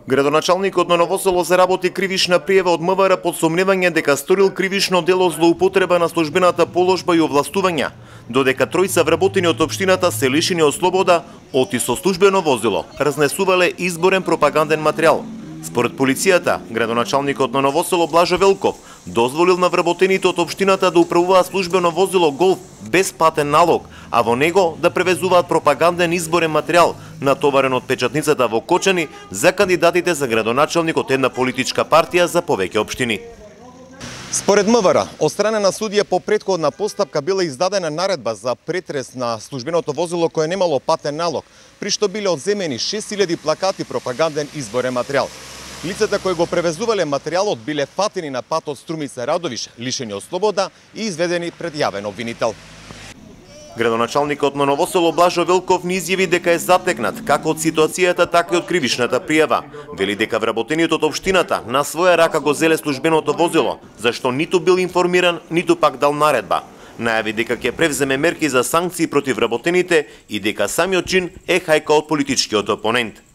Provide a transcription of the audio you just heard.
Градоначалникот на Ново Село заработи кривишна пријава од МВР под сомневање дека сторил кривишно дело злоупотреба на службената положба и овластувања, додека тројца вработени од општината се лишени од слобода, оти со службено возило разнесувале изборен пропаганден материјал. Според полицијата, градоначалникот на Ново Село Блажо Велков дозволил на вработените од општината да управуваат службено возило Голф без платен налог, а во него да превезуваат пропаганден изборен материјал, натоварен од печатницата во Кочани за кандидатите за градоначалник од една политичка партија за повеќе општини. Според МВР, од страна на судија по претходна постапка била издадена наредба за претрес на службеното возило кое немало платен налог, при што биле одземени 6000 плакати пропаганден изборен материјал. Лицата кои го превезувале материјалот биле фатени на патот Струмица Радовиш, лишени од слобода и изведени пред јавен обвинител. Градоначалникот на Ново Село Блажо Велков ни изјави дека е затекнат како од ситуацијата, така и од кривишната пријава. Вели дека вработениот од општината на своја рака го зеле службеното возило, зашто ниту бил информиран, ниту пак дал наредба. Најави дека ќе превземе мерки за санкции против вработените и дека самиот чин е хајка од политичкиот опонент.